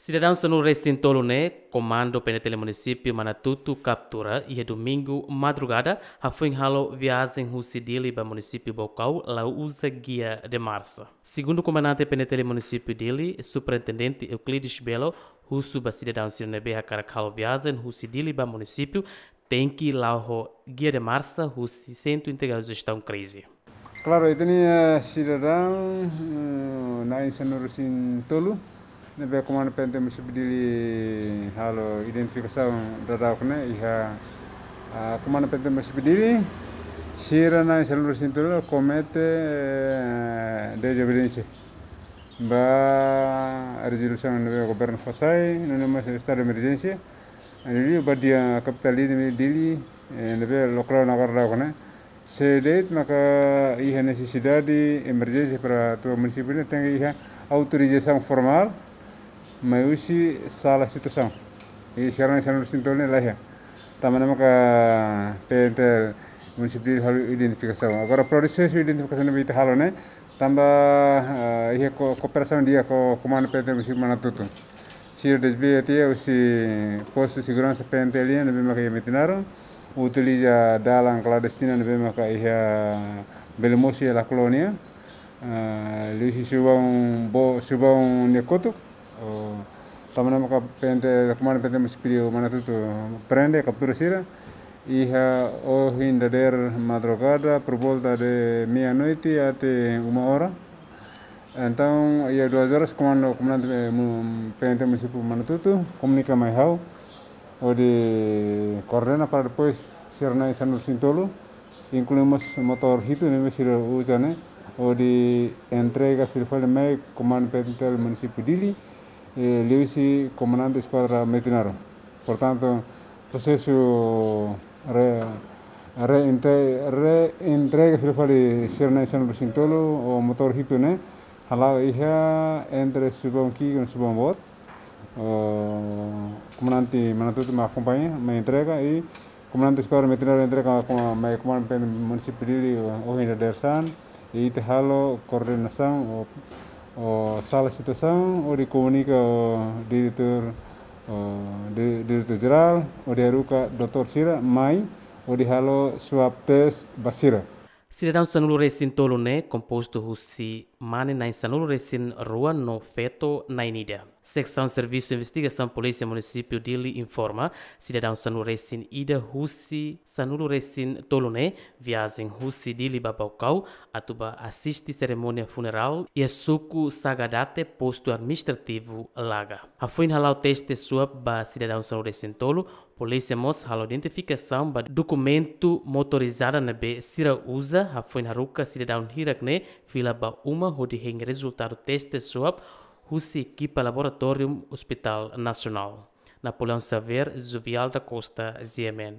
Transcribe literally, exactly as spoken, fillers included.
Sidadaun sanulu-resin-tolu ne'e, Komandu P N T L Munisípiu Manatutu kaptura iha Domingu madrugada, hafoin halo viajen husi Dili ba Munisípiu Baucau, la uza guia de marcha. Segundu Komandante P N T L Munisípiu Dili, Superintendente Euclides Belo, husu ba sidadaun sira ne'ebé hakarak halo viajen husi Dili ba munisípiu, tenke la'o ho guia de marcha husi Sentru Integradu Jestaun Krize. Klaru, ita-nia, eh, sidadaun, eh, na'in sanulu-resin-tolu ne'ebé Komandu P N T Munisípiu Dili halo identifikasaun daudauk ne'e iha, ah, Komandu P N T Munisípiu Dili, sira na'in sanulu-resin-tolu komete, eh, dezobediénsia ba rezolusaun ne'ebé governu fó sai, nune'e mós estadu de emerjénsia. Dili ba iha kapitál Dili, Dili, eh, ne'ebé lockdown agora daudauk ne'e. Se de'it maka iha nesesidade emerjénsia para atu munisípiu ne'e tenke iha autorizasaun formál, mai husi sala situasaun. I sira na'in sanulu-resin-tolu ne'e la iha. Tanba ne'e maka P N T L Munisípiu Dili halo identifikasaun. Agora prosesu identifikasaun ne'ebé ita halo ne'e, tanba, eh, iha ko-, kooperasaun di'ak ho Komandu P N T L Munisípiu Manatutu. Sira dezbia tiha husi postu seguransa P N T L nian ne'ebé maka iha Metinaro, utiliza dalan klandestina ne'ebé maka iha bele mosu iha La Colônia, eh, liuhusi Subaun Bo-, Subaun nia kotuk, oh, tanba ne'e maka P N T, Komandu P N T Munisípiu Manatutu prende, kaptura sira iha ohin dadeer madrugada, por volta de meia-noite até uma hora. Entaun, iha duas horas, komandu, komandante, eh, mu-, P N T Munisípiu Manatutu komunika mai ha'u, hodi koordena para depois sira na'in sanulu-resin-tolu, inklui mós motór hitu ne'ebé sira uza ne'e, hodi entrega fila fali mai Komandu P N T L Munisípiu Dili, eh, liuhusi Komandante Eskuadra Metinaro. Portantu, prosesu re-, reinte-, reentrega fila fali sira na'in sanulu-resin-tolu ho motór hitu ne'e hala'o iha entre Subaun Ki'ik no Subaun Boot. Oh, Komandante Manatutu mai akompaña, mai entrega, i Komandante Eskuadra Metinaro entrega ho mai Komandu P N Munisípiu Dili, oh, ohin dadeer-saan, i ita halo koordenasaun, oh, oh, sala situasaun, hodi komunika ho diretór, oh, di-, diretór jerál, hodi haruka doutór sira mai, hodi halo swab test ba sira. Sidadaun sanulu-resin-tolu ne'e kompostu husi mane na'in sanulu-resin-rua no feto na'in ida. Seksaun Servisu Investigasaun Polísia Munisípiu Dili informa, sidadaun sanulu-resin-ida husi sanulu-resin-tolu ne'e viajen husi Dili ba Baucau, atu ba asiste serimónia funerál iha suku Sagadate, postu administrativu Laga. Hafoin hala'o teste swab ba sidadaun sanulu-resin-tolu, polísia mós halo identifikasaun ba dokumentu motorizada ne'ebé sira uza, hafoin haruka sidadaun hirak ne'e fila ba uma hodi hein rezultadu teste swab husi ekipa laboratóriu Hospital Nasionál. Napoleão Xavier, Jovial da Costa, G M N.